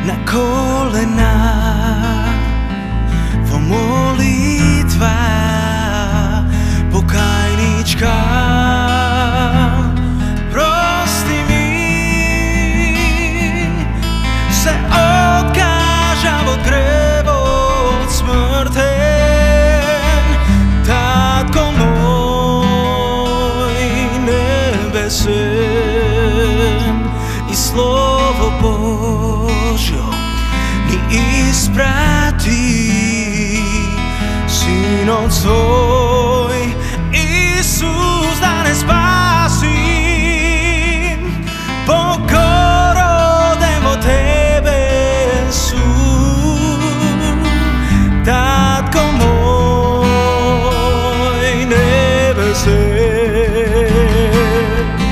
na kolena, во молитва покајничка. Прости ми, се откажа во гревот смртен. Татко мој небесен, и Слово Божјо ни испрати, Синот свој Исус да не спаси. Покороден во Тебе су, Татко мој небесен.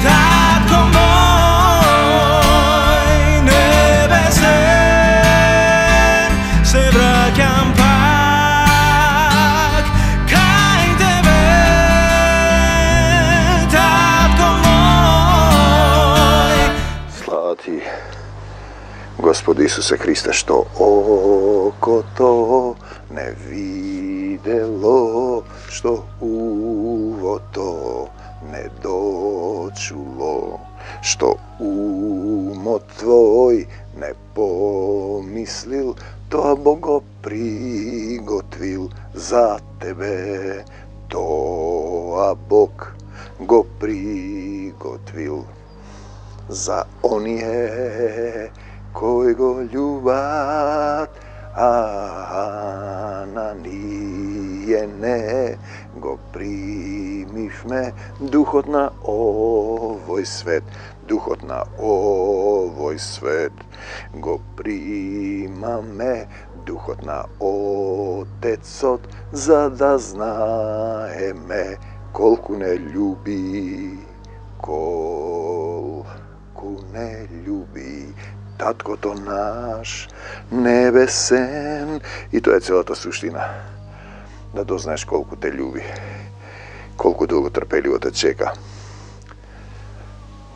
Татко мој небесен, се враќам пак кај Тебе. Татко мој. Слава Ти, Господи Исусе Христе, што окото не видело, што увото не дочуло, што умот Твој не помислил, тоа Бог го приготвил за Тебе. Тоа Бог го приготвил за оние кои го љубат, а на ние не го примивме духот на овој свет. Духот на овој свет го примаме, духот на Отецот, за да знаеме колку не љуби, колку не љуби Таткото наш небесен. И тоа е целата суштина. Да дознаеш колку те љуби, колку долго трпеливо те чека.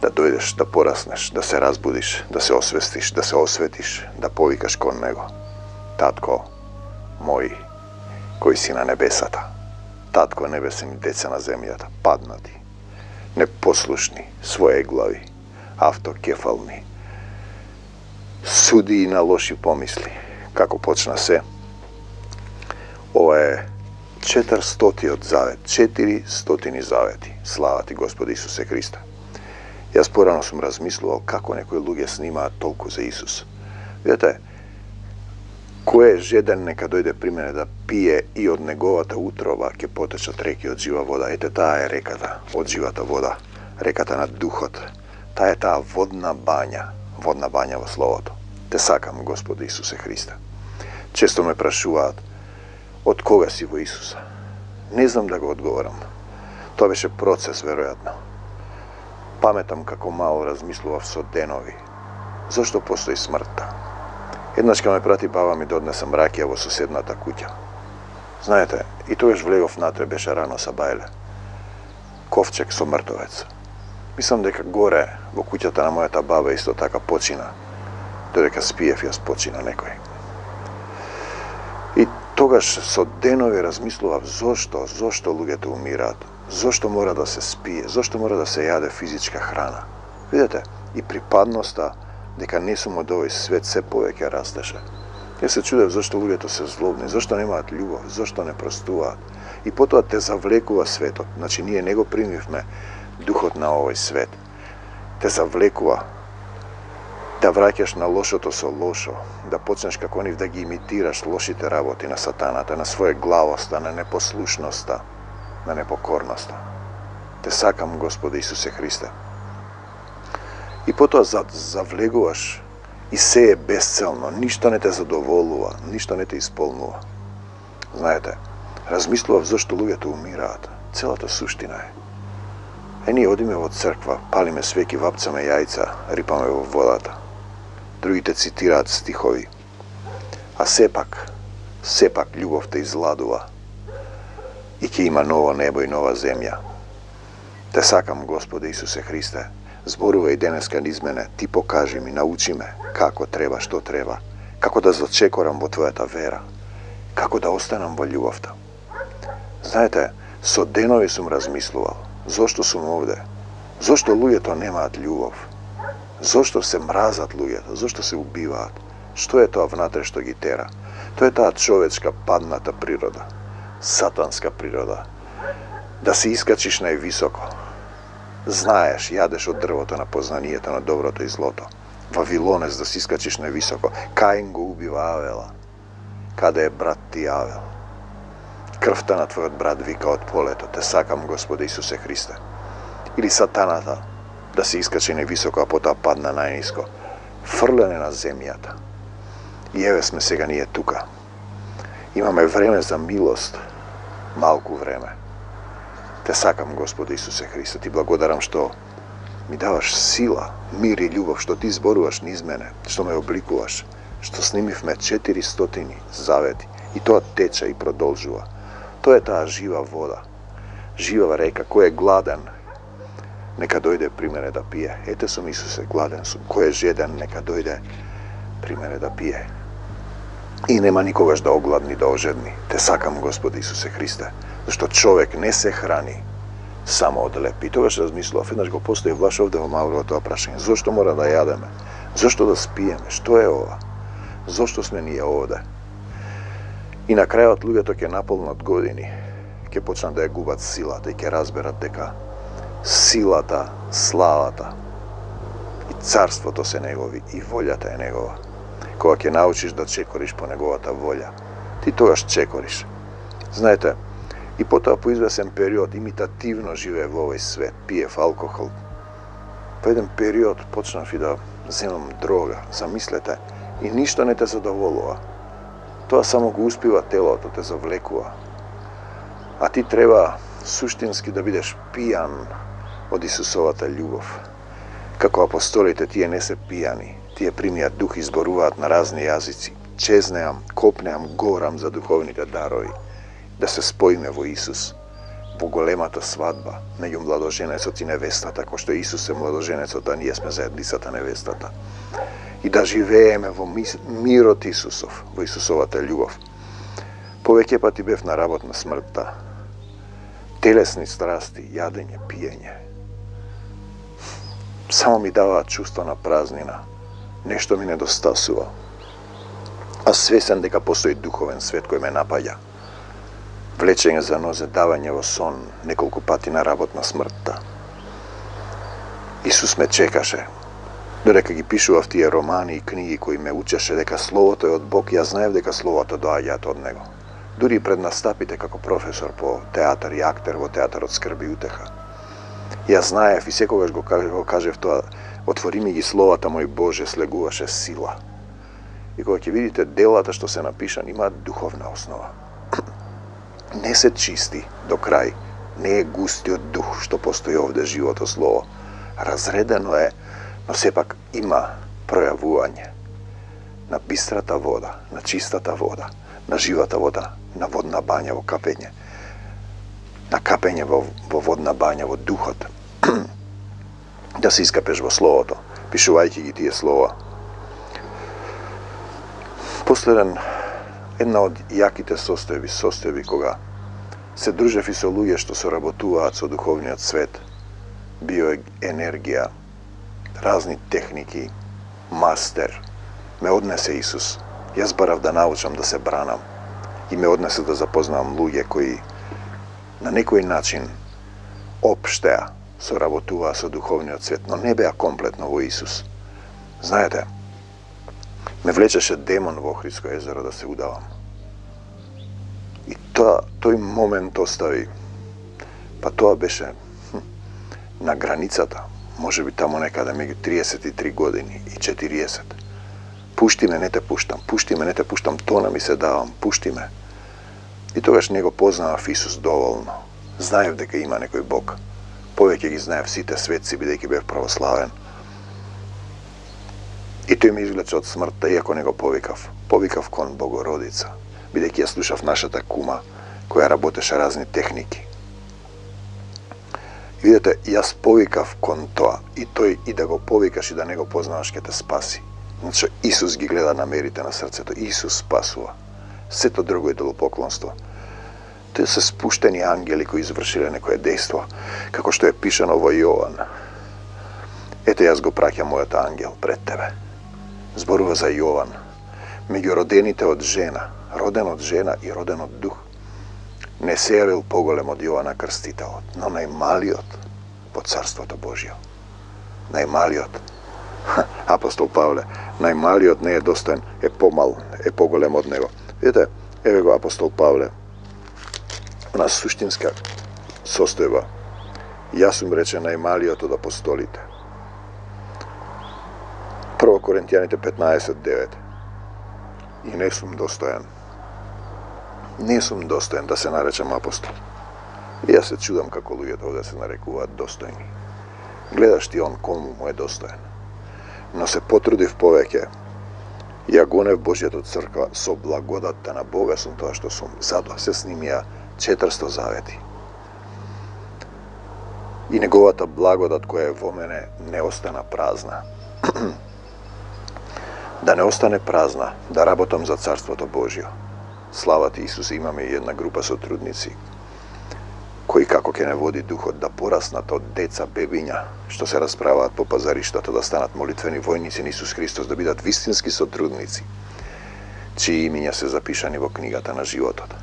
Да дојдеш, да пораснеш, да се разбудиш, да се освестиш, да се осветиш, да повикаш кон Него. Татко мој, кој си на небесата. Татко небесен и деца на земјата, паднати, непослушни, своеглави, автокефални, суди на лоши помисли. Како почна се? Ова е 400-тиот завет, 400 завети. Слава Ти, Господи Исусе Христе. Јас порано сум размислувал како некои луѓе снимаат толку за Исус. Видете, кој е жеден нека дојде при мене да пие и од неговата утрова ќе потечат реки од жива вода. Ете, таа е реката од живата вода, реката на духот. Таа е таа водна бања во Словото. Те сакам, Господи Исусе Христе. Често ме прашуваат, од кога си во Исуса? Не знам да го одговорам. Тоа беше процес, веројатно. Паметам како мал размислував со денови. Зошто постои смртта? Еднаш ка ме прати баба ми да однесам ракија во соседната куќа. Знаете, и тогаш влегов натре, беше рано сабајле. Ковчег со мртовец. Мислам дека горе во куќата на мојата баба исто така почина. Додека спиев, јас почина некој. И тогаш со денови размислував зошто луѓето умираат, зошто мора да се спие, зошто мора да се јаде физичка храна. Видете, и припадноста дека не сум од овој свет се повеќе растеше. Јас се чудев зошто луѓето се злобни, зошто немаат љубов, зошто не простуваат. И потоа те завлекува светот. Значи, ние не го примивме духот на овој свет. Те завлекува да враќаш на лошото со лошо, да почнеш како нив да ги имитираш лошите работи на сатаната, на своеглавоста, на непослушноста, на непокорноста. Те сакам, Господи Исусе Христе. И потоа завлегуваш и се е безцелно, ништо не те задоволува, ништо не те исполнува. Знаете, размислував зашто луѓето умираат. Целата суштина е. Ние одиме во црква, палиме свеки, вапцаме јајца, рипаме во водата. Другите цитираат стихови. А сепак љубовта изладува и ќе има ново небо и нова земја. Те сакам, Господи Исусе Христе, Зборува и денеска низ мене, ти покажи ми, научи ме како треба, што треба, како да зачекорам во твојата вера, како да останам во љубовта. Знаете, со денови сум размислувал, зошто сум овде, зошто луѓето немаат љубов, зошто се мразат луѓето, зошто се убиваат, што е тоа внатре што ги тера. Тоа е таа човечка падната природа, сатанска природа, да се искачиш највисоко. Знаеш, јадеш од дрвото на познанието на доброто и злото. Вавилонец, да се искачиш највисоко. Каин го убива Авела. Каде е брат ти Авел? Крвта на твојот брат вика од полето, те сакам Господе Исусе Христе. Или сатаната, да се искачи највисоко, а потоа падна најниско. Фрлене на земјата. И еве сме сега ние тука. Имаме време за милост, малку време. Те сакам, Господи Исусе Христе, ти благодарам што ми даваш сила, мир и љубов, што ти зборуваш низ мене, што ме обликуваш, што снимивме 400 завети и тоа тече и продолжува. Тоа е таа жива вода, жива река, кој е гладен, нека дојде при мене да пие. Ете сум, Исусе, гладен сум, кој е жеден, нека дојде при мене да пие. И нема никогаш да огладни, да ожедни. Те сакам, Господи Исусе Христе, зашто човек не се храни само од леп. И тогаш размислував, еднаш го поставив баш овде во малко тоа прашање. Зошто мора да јадеме? Зошто да спиеме? Што е ова? Зошто сме ние овде? И на крајот луѓето ќе наполнат години, ќе почнат да ја губат силата и ќе разберат дека силата, славата и царството се негови и волјата е негова. Кога ќе научиш да чекориш по неговата волја, ти тогаш чекориш. Знаете, и потоа по извесен период имитативно живее во овој свет, пиев алкохол. По еден период почнав и да земам дрога, замислете, и ништо не те задоволува. Тоа само го успива телото, те завлекува. А ти треба суштински да бидеш пијан од Исусовата љубов. Како апостолите, тие не се пијани, тие примијат дух и зборуваат на разни јазици. Чезнеам, копнеам, горам за духовните дарови, да се споиме во Исус, во големата свадба меѓу младоженецот и невестата, кој што Исус е младоженецот, а ние сме заедницата невестата. И да живееме во мирот Исусов, во Исусовата љубов. Повеќе пати бев на работ на смртта, телесни страсти, јадење, пиење. Само ми даваат чувство на празнина, нешто ми недостасува. А свесен дека постои духовен свет кој ме напаѓа. Влечење за нозе, давање во сон, неколку пати на работ на смртта. Исус ме чекаше. Додека ги пишував тие романи и книги кои ме учеше дека Словото е од Бог, ја знаев дека Словото доаѓаат од Него. Дури пред настапите како професор по театар и актер во театарот Скрби и утеха. Ја знаев и секогаш го кажев тоа, отвори ми ги словата мој Боже, слегуваше сила. И кога ќе видите делата што се напишани, имаат духовна основа. Не се чисти до крај, не е густиот дух што постои овде живото слово. Разредено е, но сепак има пројавување на бистрата вода, на чистата вода, на живата вода, на водна бања во капење, на капење во водна бања во духот. Да се искапеш во словото, пишувајќи ги тие слова. Последен, една од јаките состојби кога се дружев и со луѓе што соработуваат со духовниот свет, биоенергија, разни техники, мастер, ме однесе Исус. Јас барав да научам да се бранам и ме однесе да запознавам луѓе кои на некој начин општеа соработуваа со духовниот свет, но не беа комплетно во Исус. Знаете, ме влечеше демон во Охридско езеро да се удавам. И тој момент остави, па тоа беше на границата, може би тамо некаде меѓу 33 години и 40. Пушти ме, не те пуштам, пушти ме, не те пуштам, тона ми се давам, пушти ме. И тогаш не го познавав Исус доволно. Знаев дека има некој Бог. Повеќе ги знаев сите светци, бидејќи бев православен. И тој ме извлече од смртта, иако не го повикав. Повикав кон Богородица, бидејќи ја слушав нашата кума, која работеше разни техники. И видите, јас повикав кон тоа, и тој и да го повикаш и да не го познаваш ке те спаси. Значи, Исус ги гледа намерите на срцето, Исус спасува. Сето друго е идолопоклонство. Тоа се спуштени ангели кои извршиле некое дејство, како што е пишано во Јован. Ете, јас го праќам мојот ангел пред тебе. Зборува за Јован, меѓу родените од жена, роден од жена и роден од дух. Не се јавил поголем од Јована Крстителот, но најмалиот во Царството Божјо. Најмалиот. Апостол Павле, најмалиот не е достоен, е помал, е поголем од него. Видите, еве го апостол Павле, на суштинска состојба. Јас сум рече најмалиот од апостолите. 1 Коринтијаните 15:9. И не сум достоен. Не сум достоен да се наречам апостол. И јас се чудам како луѓето овде се нарекуваат достојни. Гледаш ти он кому му е достоен. Но се потрудив повеќе. Ја гонев Божјата црква со благодатта на Бога сум тоа што сум. Затоа се снимија 400 завети. И неговата благодат која е во мене не остана празна. Да не остане празна, да работам за Царството Божјо. Слава ти, Исусе, имаме и една група сотрудници кои како ќе не води духот да пораснат од деца, бебиња, што се расправаат по пазариштата, да станат молитвени војници на Исус Христос, да бидат вистински сотрудници, чии имиња се запишани во книгата на животот.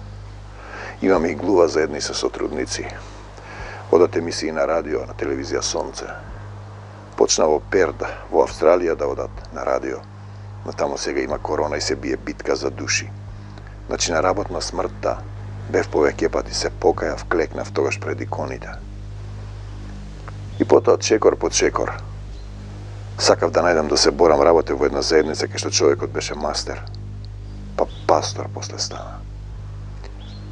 Имаме и глува заедни со сотрудници. Одат емисии на радио, на телевизија Сонце. Почна во Перд, во Австралија да одат на радио. Но таму сега има корона и се бие битка за души. Значи на работна смртта бев повеќе пати, се покајав, клекнав тогаш пред иконите. И потоа чекор по чекор сакав да најдам да се борам, работев во една заедница кај што човекот беше мастер, па пастор после стана.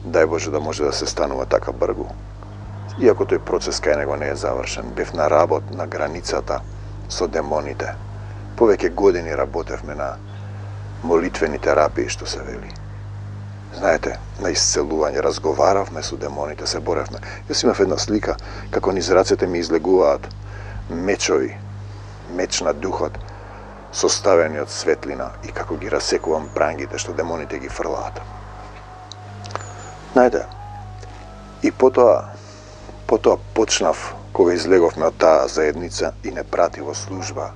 Дај Боже да може да се станува така бргу. Иако тој процес кај него не е завршен, бев на работ на границата со демоните. Повеќе години работевме на молитвени терапии, што се вели. Знаете, на исцелување, разговаравме со демоните, се боревме. Јас имав една слика, како низ рацете ми излегуваат мечови, меч на духот, составени од светлина, и како ги расекувам прангите што демоните ги фрлаат. Знаете, и потоа почнав, кога излеговме од таа заедница и не прати во служба,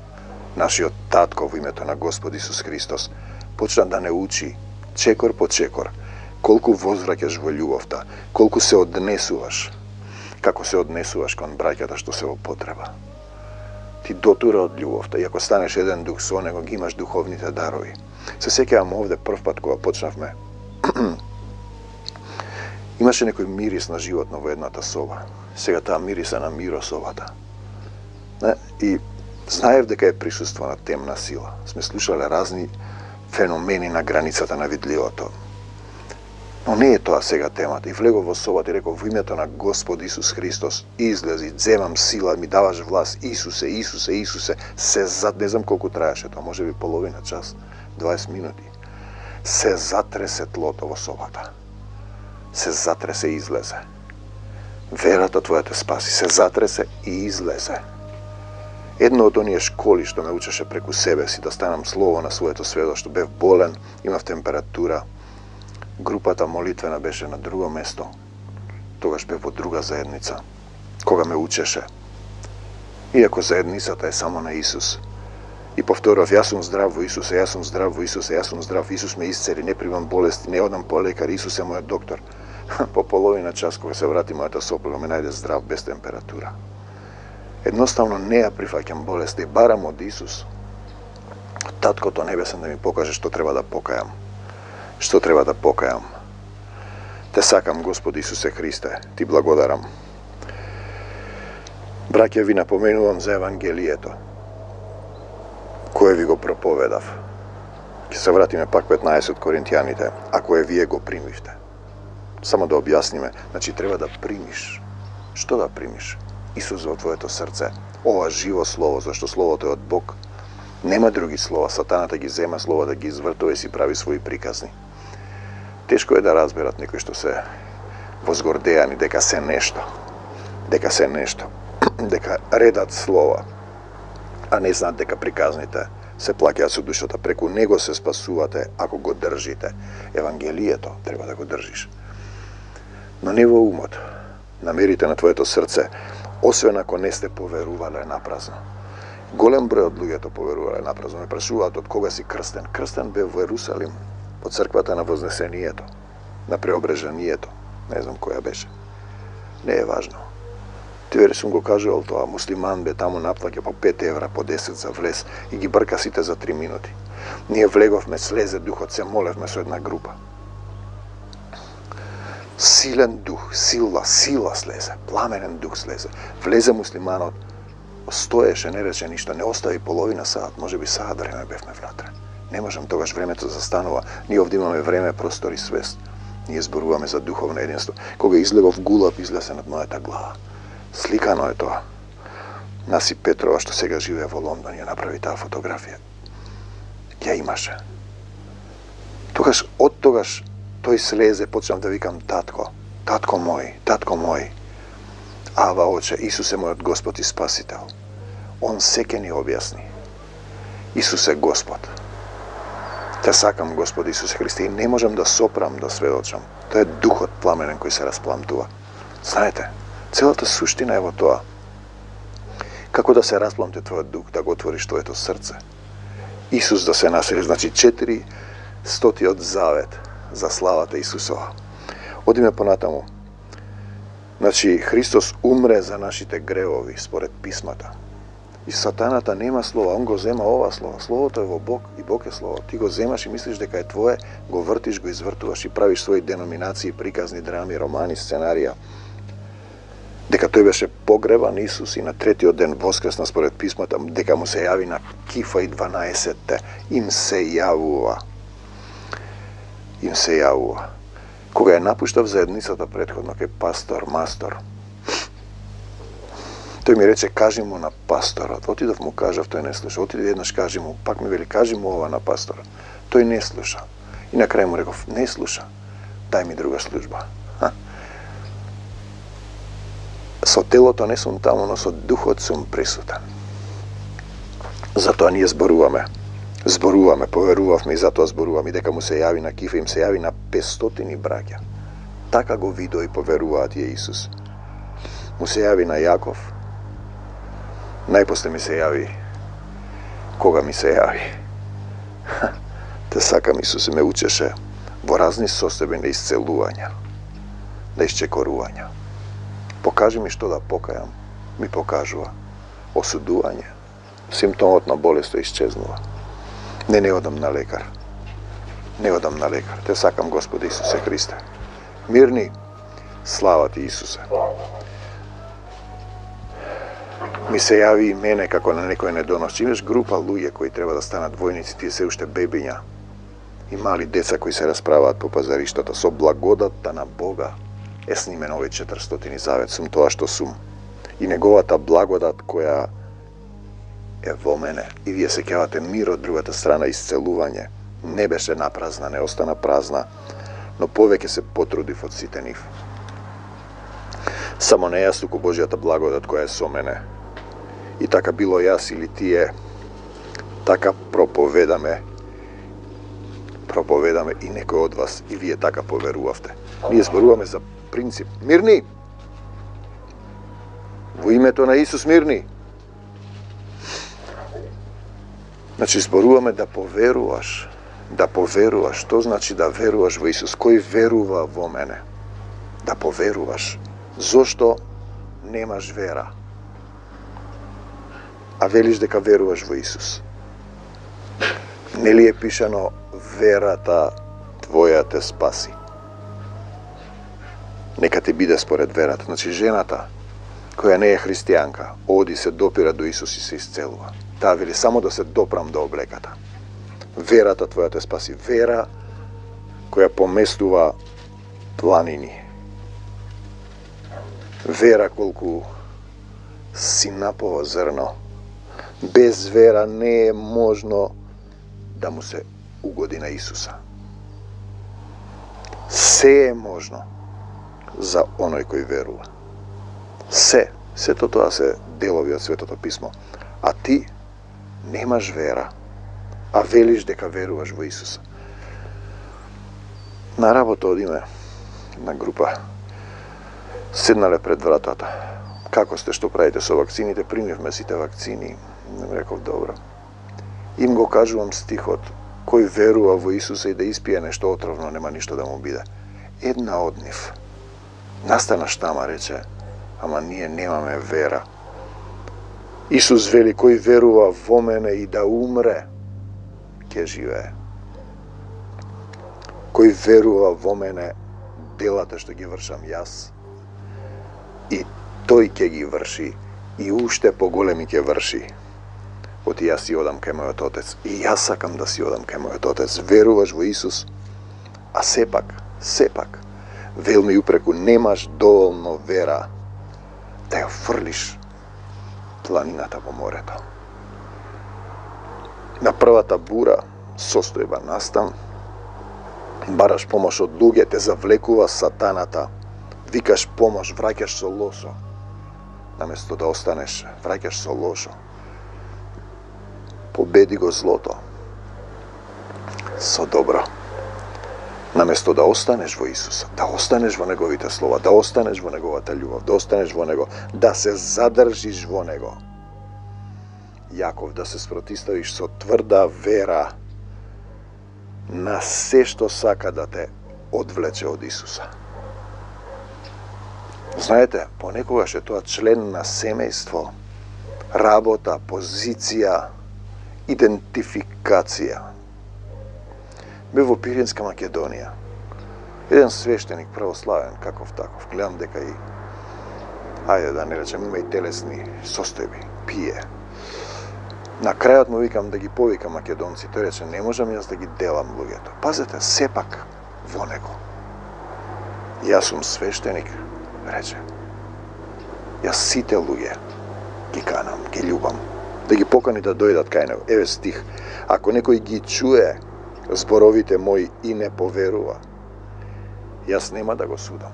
нашиот татко во името на Господ Исус Христос, почна да не учи, чекор по чекор, колку возвраќаш во љубовта, колку се однесуваш, како се однесуваш кон браќата што се во потреба. Ти дотура од љубовта, и ако станеш еден дух со него, ги имаш духовните дарови. Се сеќавам овде прв пат кога почнавме, имаше некој мирис на животно во едната соба. Сега таа мириса на мирособата. И знаев дека е присуствена темна сила. Сме слушале разни феномени на границата на видливото. Но не е тоа сега темата. И влегов во собата и реков, во името на Господ Исус Христос, излези, земам сила, ми даваш власт, Исусе, Исусе, Исусе, не знам колку траеше тоа, може би половина час, 20 минути. Се затресе тлото во собата. Се затресе и излезе. Верата твоја те спаси, се затресе и излезе. Едно од оние школи што ме учеше преку себе си да станам слово на своето сведоштво, бев болен, имав температура, групата молитвена беше на друго место, тогаш бев во друга заедница, кога ме учеше. Иако заедницата е само на Исус. И повторав, јас сум здрав во Исусе, јас сум здрав во Исусе, јас сум здрав, Исус ме исцели, не примам болести, не одам по лекар, Исус е мојот доктор. По половина час, кога се врати мојата сопруга, ме најде здрав, без температура. Едноставно не ја прифаќам болест и барам од Исус, Таткото Небесен, да ми покаже што треба да покајам. Што треба да покајам. Те сакам, Господи Исусе Христе, ти благодарам. Браќа, ви напоменувам за Евангелието, кое ви го проповедав. Ќе се вратиме пак 15 од Коринтијаните, а кое вие го примивте. Само да објасниме, значи треба да примиш. Што да примиш? Исус во твоето срце, ова живо слово, зашто словото е од Бог. Нема други слова, сатаната ги зема слова да ги извртува и си прави своји приказни. Тешко е да разберат некои што се возгордеани дека се нешто. дека редат слова, а не знаат дека приказните се плаќаат со душата. Преку него се спасувате ако го држите. Евангелието треба да го држиш. Но не во умот. Намерите на твоето срце, освен ако не сте поверувале напразно. Голем број од луѓето поверувале напразно. Ме прашуваат од кога си крстен. Крстен бе во Ерусалим, во црквата на Вознесението, на Преображението. Не знам која беше. Не е важно. Ти вери сум го кажувал тоа, муслиман бе таму наплаќа по 5 евра, по 10 за влез и ги брка сите за 3 минути. Ние влеговме, слезе духот, се молевме со една група. Силен дух, сила слезе, пламенен дух слезе. Влезе муслиманот, стоеше, не рече ништо, не остави половина саат, може би саат време бевме внатре. Не можам, тогаш времето застанува. Ние овде имаме време, простор и свест. Ние зборуваме за духовно единство. Кога излегов гулап, излезе над мојата глава. Сликано е тоа. Насип Петрова, што сега живее во Лондон, ја направи таа фотографија. Ја имаше. Од тогаш, тој слезе, почнав да викам татко, татко мој. Ава, оче, Исус е мојот Господ и Спасител. Он секе ни објасни. Исус е Господ. Те сакам, Господ Исусе Христе, и не можам да сопрам, да сведочам. Тоа е духот пламенен кој се распламтува. Знаете, целата суштина е во тоа. Како да се распламте твојот дух, да го отвориш твоето срце. Исус да се насели, значи 400 завет за славата Исусова. Одиме понатаму. Значи, Христос умре за нашите гревови, според писмата. И сатаната нема слово, он го зема ова слово. Словото е во Бог и Бог е слово. Ти го земаш и мислиш дека е твое, го вртиш, го извртуваш и правиш своји деноминации, приказни драми, романи, сценарија. Дека тој беше погребан Исус и на третиот ден воскресна според писмата, дека му се јави на Кифа и 12-те. Им се јавува. Кога ја напуштав заедницата предходно кај пастор, мастор, тој ми рече, кажи му на пасторот. Отидов му кажав, тој не слуша. Отиде еднаш, кажи му, пак ми вели, кажи му ова на пасторот. Тој не слуша. И на крај му реков, не слуша, дај ми друга служба. Со телото не сум таму, но со духот сум присутен. Затоа ние зборуваме, поверувавме и затоа зборуваме, дека му се јави на Кифа, им се јави на 500 браќа. Така го видо и поверуваат и Исус. Му се јави на Јаков, најпосле ми се јави, кога ми се јави. Те сакам, Исус ме учеше во разни состојби на исцелувања, на исчекорувања. Покажи ми што да покајам, ми покажува. Осудување, симптомот на болест исчезнува. Не одам на лекар. Те сакам, Господи Исусе Христе. Мирни, слава ти, Исусе. Ми се јави и мене како на некој недонос. Имаш група луѓе кои треба да станат војници, тие се уште бебиња. И мали деца кои се расправаат по пазариштата. Со благодатта на Бога е снимен овој 400 завет. Сум тоа што сум. И неговата благодат која е во мене. И вие се кевате мир од другата страна, исцелување. Не беше напразна, не остана празна, но повеќе се потрудив од сите нив. Само не јас, туку Божјата благодат која е со мене. И така било јас или тие, така проповедаме и некој од вас, и вие така поверувавте. Ние зборуваме за принцип. Мирни! Во името на Исус, мирни! Значи, зборуваме да поверуваш. Што значи да веруваш во Исус? Кој верува во мене? Да поверуваш. Зошто немаш вера? А велиш дека веруваш во Исус. Нели е пишано, верата твоја те спаси? Нека ти биде според верата. Значи, жената која не е христијанка, оди се допира до Исус и се исцелува. Таа вели само да се допрам до облеката. Верата твоја те спаси. Вера која поместува планини. Вера колку синапово зрно. Без вера не е можно да му се угоди на Исуса. Се е можно за оној кој верува. Се. Сето тоа се делови од Светото Писмо. А ти немаш вера, а велиш дека веруваш во Исуса. На работа одиме на група. Седнале пред вратата. Како сте, што правите со вакцините? Примивме сите вакцини. Реков, добро. Им го кажувам стихот, кој верува во Исуса и да испие нешто отровно, нема ништо да му биде. Една од нив настана штама, рече, ама ние немаме вера. Исус вели, кој верува во мене и да умре, ќе живее. Кој верува во мене, делата што ги вршам јас, и тој ќе ги врши, и уште поголеми ќе врши. Оти јас си одам кај мојот Отец, и јас сакам да си одам кај мојот Отец. Веруваш во Исус, а сепак, велми упреку, немаш доволно вера да ја фрлиш планината во морето. На првата бура, состојба настан, бараш помош од луѓе, те завлекува сатаната, викаш помош, враќаш со лошо. Наместо да останеш, враќаш со лошо. Победи го злото со добро. Наместо да останеш во Исуса, да останеш во Неговите слова, да останеш во Неговата љубов, да останеш во Него, да се задржиш во Него. Јаков, да се спротиставиш со тврда вера на се што сака да те одвлече од Исуса. Знаете, понекогаш е тоа член на семејство, работа, позиција, идентификација. Бев во Пиринска Македонија. Еден свештеник, православен, каков таков, гледам дека и, ајде да не речем, има и телесни состојби, пие. На крајот му викам да ги повикам македонци, тој рече, не можам јас да ги делам луѓето. Пазете, сепак во него. Јас сум свештеник, рече. Јас сите луѓе ги канам, ги љубам, да ги покани да дојдат кај него. Еве стих, ако некој ги чуе зборовите мои и не поверува, јас нема да го судам.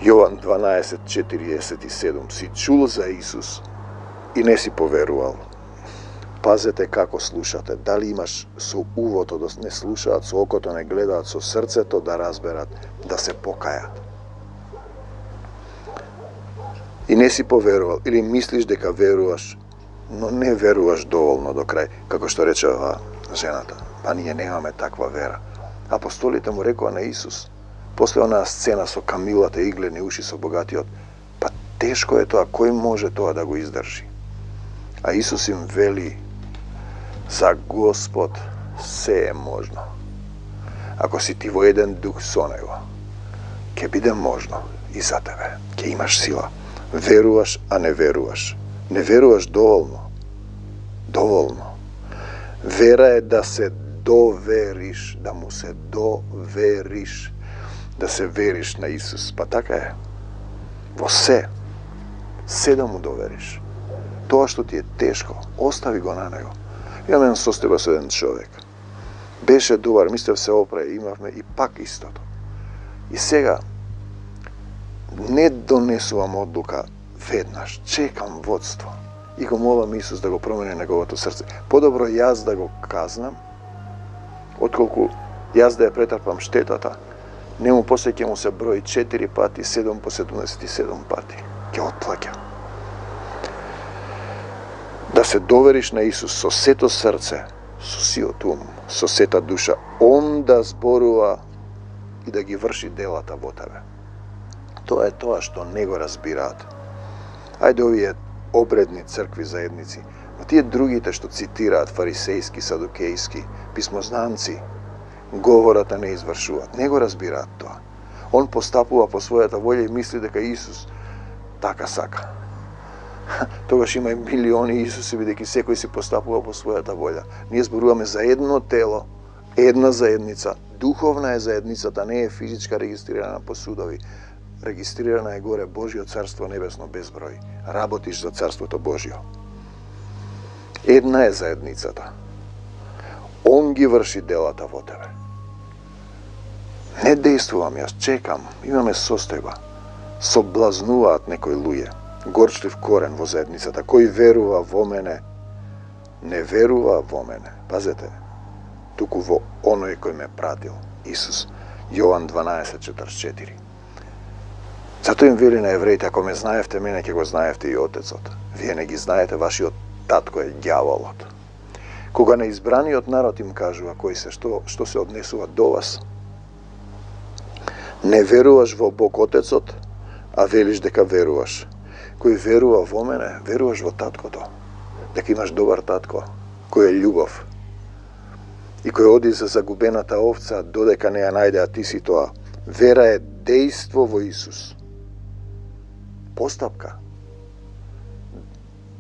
Јован 12:47, си чул за Исус и не си поверувал. Пазете како слушате, дали имаш со увото да не слушаат, со окото не гледаат, со срцето да разберат, да се покајат. И не си поверувал, или мислиш дека веруваш, но не веруваш доволно до крај, како што рече жената. Па ние немаме таква вера. Апостолите му рекоа на Исус, после онаа сцена со камилата и иглени уши со богатиот, па тешко е тоа, кој може тоа да го издржи? А Исус им вели, за Господ се е можно. Ако си ти во еден дух со Него, ќе биде можно и за тебе. Ќе имаш сила. Веруваш, а не веруваш. Не веруваш доволно. Доволно. Вера е да се довериш, да му се довериш, да се вериш на Исус. Па така е. Во се да му довериш. Тоа што ти е тешко, остави го на Него. Имаме еден состојба со еден човек. Беше добар, мислев се опре, имавме и пак истото. И сега, не донесувам одлука веднаш, чекам водство. И го молам Исус да го промени неговото срце. Подобро јас да го казнам, отколку јас да ја претрпам штетата. Нему после ќе му се брои 4 пати, 7 по 77 пати. Ќе отплаќа. Да се довериш на Исус со сето срце, со сиот ум, со сета душа, Он да зборува и да ги врши делата во тебе. Тоа е тоа што не го разбираат. Ајде овие обредни цркви заедници, но тие другите што цитираат фарисејски, садукејски, писмознанци, говората не извршуваат, не го разбираат тоа. Он постапува по својата волја и мисли дека Исус така сака. Тогаш има и милиони Исуси, бидејќи секој си постапува по својата волја. Ние зборуваме за едно тело, една заедница. Духовна е заедницата, не е физичка регистрирана по судови. Регистрирана е горе Божјо царство небесно без број. Работиш за царството Божјо. Една е заедницата. Он ги врши делата во тебе. Не действувам, јас чекам, имаме состојба. соблазнуваат некои луѓе. Горчлив корен во заедницата. Кој верува во мене, не верува во мене. Пазете, туку во оној кој ме пратил. Исус. Јован 12:44. Затоа им вели на евреите, ако ме знаевте мене, ќе го знаевте и Отецот. Вие не ги знаете, вашиот татко е ѓаволот. Кога неизбраниот народ им кажува кои се, што се однесува до вас, не веруваш во Бог Отецот, а велиш дека веруваш. Кој верува во мене, веруваш во таткото. Дека имаш добар татко, кој е љубов. И кој оди за загубената овца, додека не ја најде, а ти си тоа. Вера е дејство во Исус. Постапка.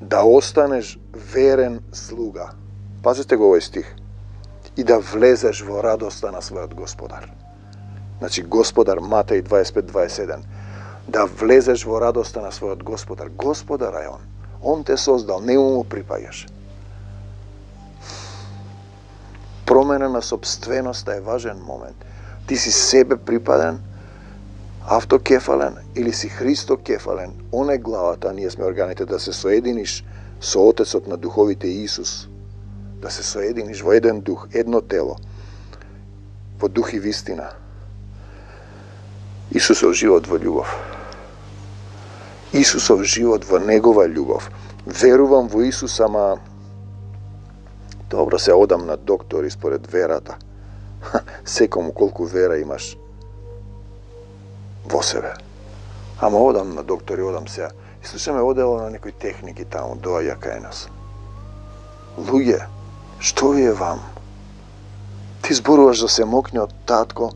Да останеш верен слуга. Пазете го овој стих. И да влезеш во радоста на својот Господар. Значи, Господар, Матеј 25:27. Да влезеш во радоста на својот Господар. Господар е Он. Он те создал, не му припаѓаш. Промена на собственоста е важен момент. Ти си себе припаден, автокефален или си Христо кефален. Он е главата, а ние сме органите, да се соединиш со Отецот на духовите Исус. Да се соединиш во еден дух, едно тело, во дух и вистина. Исусов живот во љубов. Исусов живот во Негова љубов. Верувам во Исус, ама добро се одам на доктор според верата. Секому колку вера имаш во себе. Ама одам на доктор и одам сега. И слушаме одело на некои техники таму, доаѓа кај нас. Луѓе, што ви е вам? Ти зборуваш за се мокне од татко,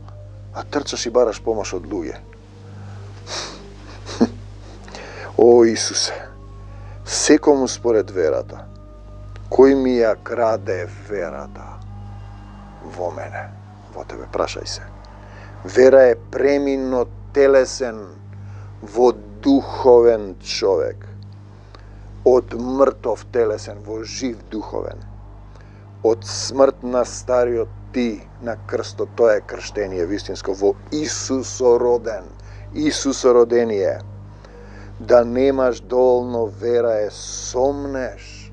а трчаш и бараш помош од луѓе. О, Исусе, секому според верата, кој ми ја краде верата во мене, во тебе, прашај се. Вера е премин од телесен во духовен човек, од мртов телесен во жив духовен, од смрт на стариот ти на крстот, тоа е крштение вистинско, во Исусороден, Исусородение. Да немаш доволно вера е сомнеш.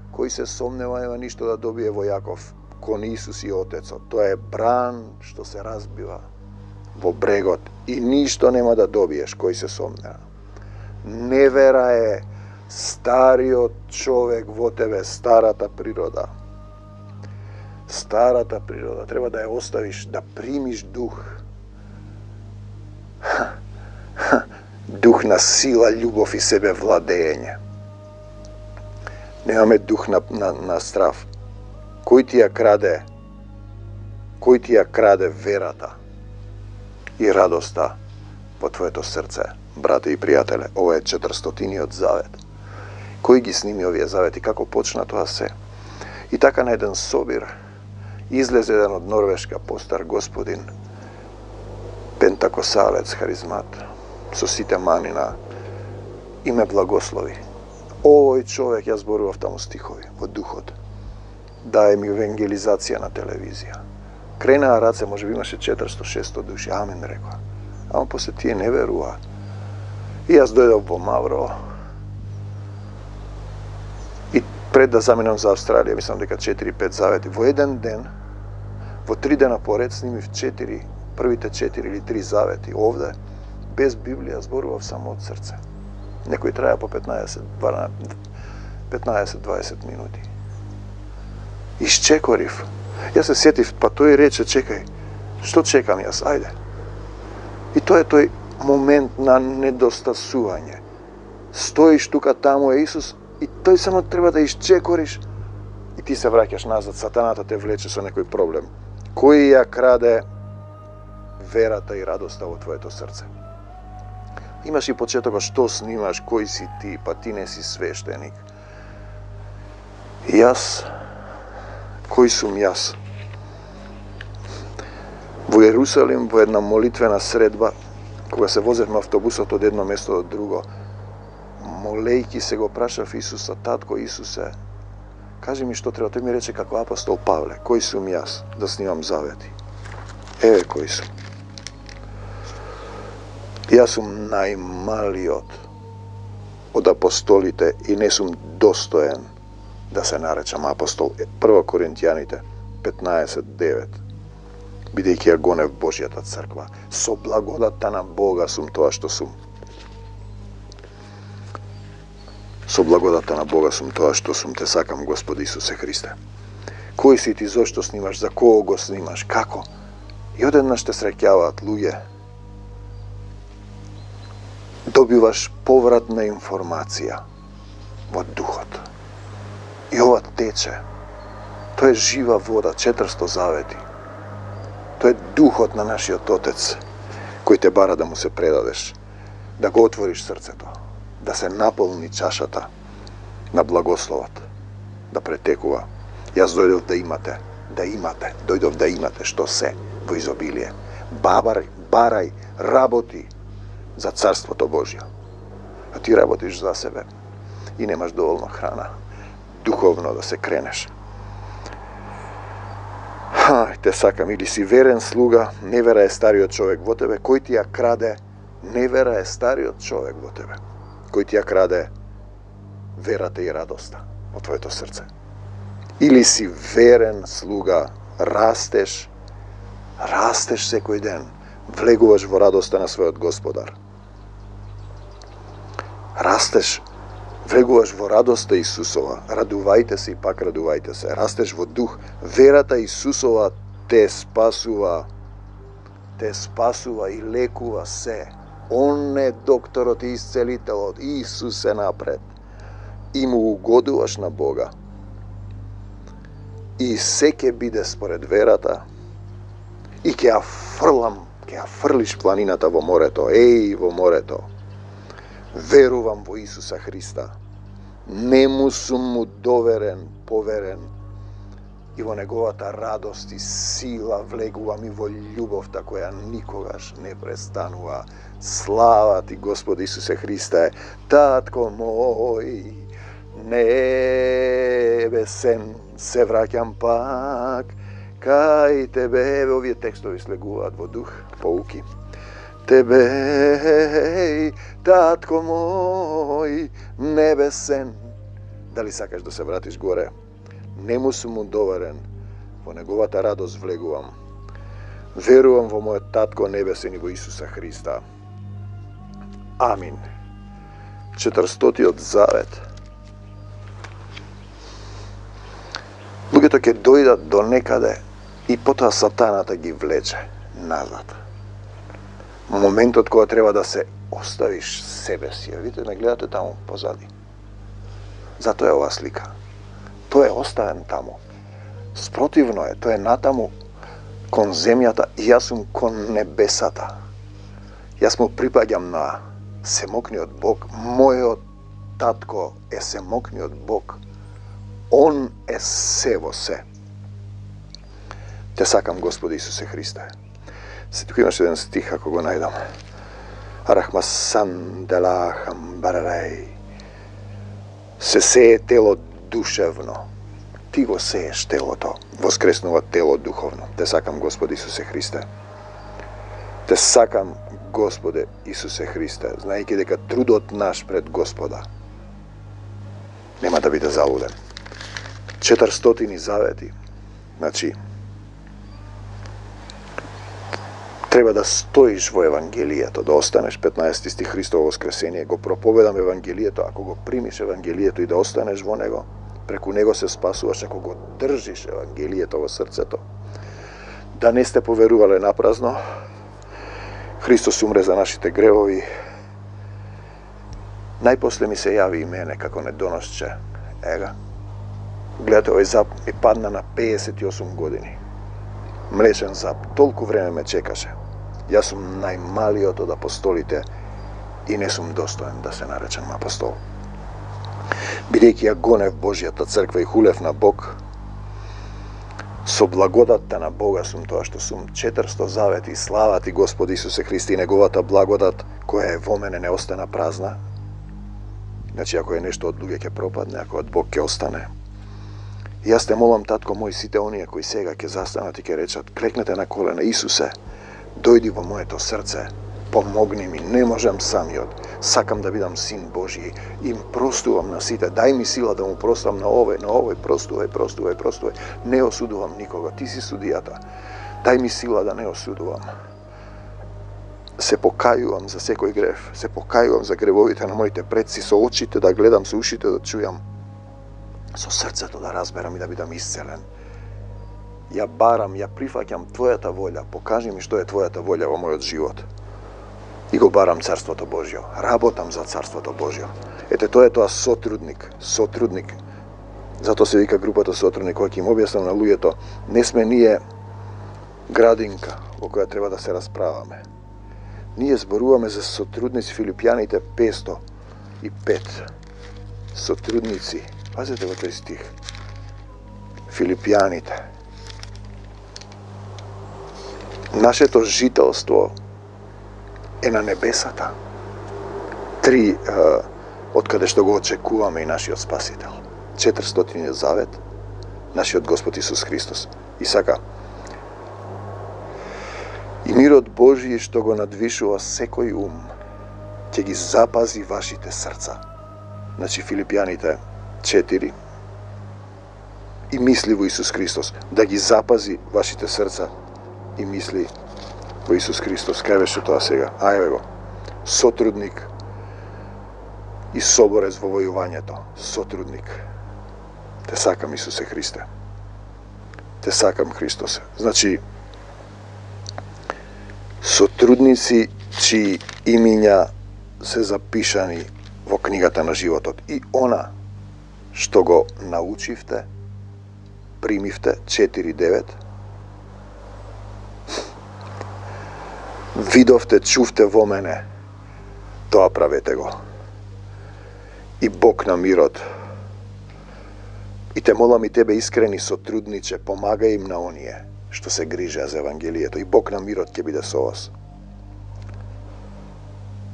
Кој се сомнева, нема ништо да добие во Јаков, кон Исус и Отецот. Тоа е бран што се разбива во брегот и ништо нема да добиеш кој се сомнева. Невера е стариот човек во тебе, старата природа. Старата природа, треба да ја оставиш, да примиш дух. Дух на сила, љубов и себе владење. Немаме дух на страв. Кој ти ја краде? Кој ти ја краде верата и радоста во твоето срце, брате и пријателе? Ова е 400-тиниот завет. Кој ги сними овие завети? Како почна тоа се? И така на еден собир излезе еден од Норвешка постар господин, пентакосалец, харизмат, со сите манина, и ме благослови. Овој човек, ја зборував таму стихови, во духот, дае ми евангелизација на телевизија. Кренаа раце, може би имаше 400-600 души, амин рекоа. Ама после тие не веруваат. И јас дојдов во Мавро, и пред да заминам за Австралија, мислам дека 4-5 завети, во еден ден, во 3 дена поред снимив 4, првите 4 или 3 завети овде, без Библија, зборував само од срце. Некој траја по 15-20 минути. Исчекорив. Јас се сетив, па тој рече, чекај, што чекам јас, ајде. И тоа е тој момент на недостасување. Стоиш тука, таму е Исус, и тој само треба да исчекориш, и ти се враќаш назад, сатаната те влече со некој проблем. Кој ја краде верата и радоста во твоето срце? Имаш и почетокот, што снимаш, кој си ти, па ти не си свештеник. Јас, кој сум јас? Во Јерусалим, во една молитвена средба, кога се возевме автобусот од едно место до друго, молејки се го прашав Исуса, татко Исусе, кажи ми што треба. Тој ми рече како апостол Павле, кој сум јас да снимам завети? Еве кој сум. Јас сум најмалиот од апостолите и не сум достоен да се наречам апостол. 1 Коринтијаните 15:9. Бидејќи ја гонев Божјата црква, со благодатта на Бога сум тоа што сум. Со благодатта на Бога сум тоа што сум. Те сакам, Господи Исусе Христе. Кој си ти, зошто снимаш, за кого го снимаш, како? И одеднаш те среќаваат луѓе. Добиваш повратна информација во духот. И ова тече. Тоа е жива вода, 400 завети. Тоа е духот на нашиот Отец, кој те бара да му се предадеш, да го отвориш срцето, да се наполни чашата на благословот, да претекува. Јас дојдов да имате, дојдов да имате што се во изобилие. Барај, работи за Царството Божјо. А ти работиш за себе и немаш доволно храна, духовно да се кренеш. Те сакам, или си верен слуга, невера е стариот човек во тебе, кој ти ја краде, невера е стариот човек во тебе, кој ти ја краде верата и радоста во твоето срце. Или си верен слуга, растеш секој ден, влегуваш во радоста на својот Господар. Растеш, влегуваш во радоста Исусова, радувајте се и пак радувајте се. Растеш во дух, верата Исусова те спасува и лекува се. Он е докторот и исцелителот, Исус е напред. И му угодуваш на Бога. И се ќе биде според верата. И ќе ја фрлиш планината во морето. Во морето. Верувам во Исуса Христа. Нему сум му поверен. И во неговата радост и сила влегувам и во љубовта која никогаш не престанува. Слава ти, Господи Исусе Христе, Татко мој небесен, се враќам пак кај тебе. Овие текстови слегуваат во дух, поуки. Тебе, Татко мој небесен. Дали сакаш да се вратиш горе? Нему сум му доверен, во неговата радост влегувам. Верувам во мојот Татко небесен и во Исуса Христа. Амин. 400-тиот завет. Луѓето ќе дојдат до некаде и потоа сатаната ги влече назад. Моментот кога треба да се оставиш себе си. Видите, не гледате таму позади. Затоа е ова слика. Тој е оставен таму. Спротивно е, тој е натаму кон земјата и јас сум кон небесата. Јас му припаѓам на семокниот Бог. Мојот Татко е семокниот Бог. Он е се во се. Те сакам, Господи Исусе Христе. Се тука имаш еден стих, ако го најдам. Арахмасан делахам барарей. Се сее тело душевно. Ти го сееш телото, воскреснува тело духовно. Те сакам, Господи Исусе Христе. Те сакам, Господе Исусе Христе, знаејќи дека трудот наш пред Господа нема да биде залуден. 400 завети. Значи, треба да стоиш во Евангелието, да останеш. 15 стих, Христово воскресение. Го проповедам Евангелието. Ако го примиш Евангелието и да останеш во него, преку него се спасуваш. Ако го држиш Евангелието во срцето, да не сте поверувале напразно, Христос умре за нашите гревови. Најпосле ми се јави и мене како недоносче. Ега. Гледате, овој зап ми падна на 58 години. Млечен зап. Толку време ме чекаше. Јас сум најмалиот од апостолите и не сум достоен да се наречам апостол. Бидејќи ја гонев Божјата црква и хулев на Бог, со благодатта на Бога сум тоа што сум. 400 завети. Слава ти, Господи Исусе Христе, и неговата благодат која е во мене не остана празна. Значи, ако е нешто од луѓе ќе пропадне, ако од Бог ќе остане. И јас те молам, Татко мој, сите оние кои сега ќе застанат и ќе речат, клекнете на колена, Исусе, дојди во моето срце, помогни ми, не можам самиот. Сакам да бидам син Божји, им простувам на сите, дај ми сила да му простувам на овој, простувај. Не осудувам никога, ти си судијата. Дај ми сила да не осудувам. Се покајувам за секој грев, се покајувам за гревовите на моите предци, со очите да гледам, со ушите да чујам, со срцето да разберам и да бидам исцелен. Ја барам, ја прифаќам Твојата волја, покажи ми што е Твојата волја во мојот живот. И го барам Царството Божјо, работам за Царството Божјо. Ете, тоа е тоа сотрудник. Зато се вика групата сотрудник, кога ќе им објаснам на луѓето, не сме ние градинка во која треба да се расправаме. Ние зборуваме за сотрудници, Филипјаните 505. Сотрудници, пазете во тој стих. Филипјаните. Нашето жителство е на небесата. 3 од каде што го очекуваме и нашиот Спасител. 400 завет, нашиот Господ Исус Христос. И сака, и мирот Божји што го надвишува секој ум, ќе ги запази вашите срца. Значи Филипјаните 4. И мисли во Исус Христос, да ги запази вашите срца и мисли во Исус Христос. Кај беше тоа сега? Ајде го. Сотрудник и соборец во војувањето. Сотрудник. Те сакам, Исусе Христе. Те сакам, Христосе. Значи, сотрудници чии имиња се запишани во книгата на животот. И она што го научивте, примивте, 4.9, видовте, чувте во мене, тоа правете го. И Бог на мирот. И те молам и тебе, искрени сотрудниче, помагај им на оние што се грижеа за Евангелието. И Бог на мирот ќе биде со вас.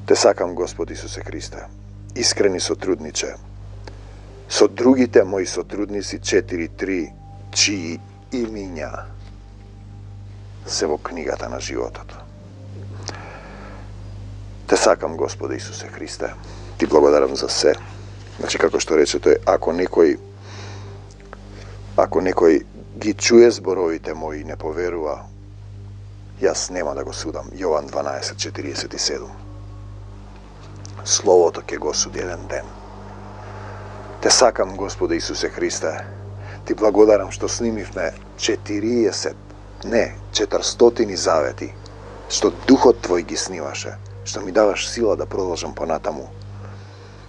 Те сакам, Господ Исусе Христе, искрени сотрудниче, со другите мои сотрудници 4.3, чии имиња се во книгата на животот. Те сакам, Господе Исусе Христе, ти благодарам за се. Значи, како што рече тој, ако некој ги чуе зборовите мои и не поверува, јас нема да го судам. Јован 12:47. Словото ќе го суди еден ден. Те сакам, Господе Исусе Христе, ти благодарам што снимивме 400 завети, што Духот Твој ги снимаше, што ми даваш сила да продолжам понатаму,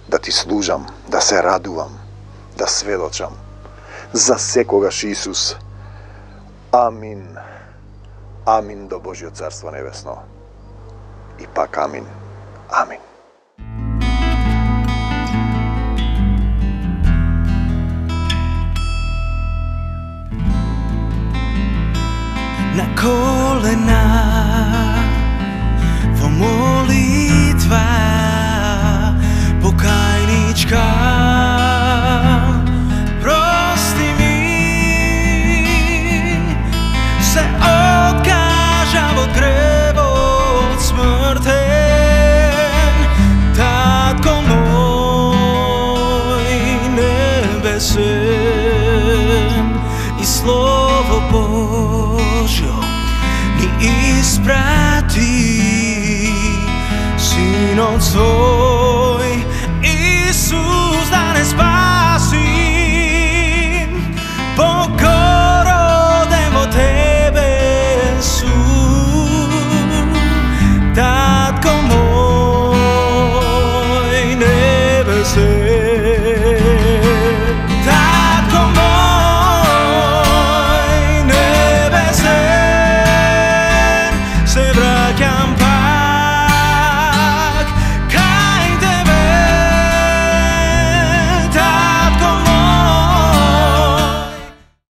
да ти служам, да се радувам, да сведочам. За секогаш, Исус. Амин. Амин до Божјо Царство Небесно. И пак амин. Амин. На колена во молитва покајничка, прости ми, се откажа во гревот смртен. Татко мој небесен, и Слово Божјо ни испрати, Синот свој.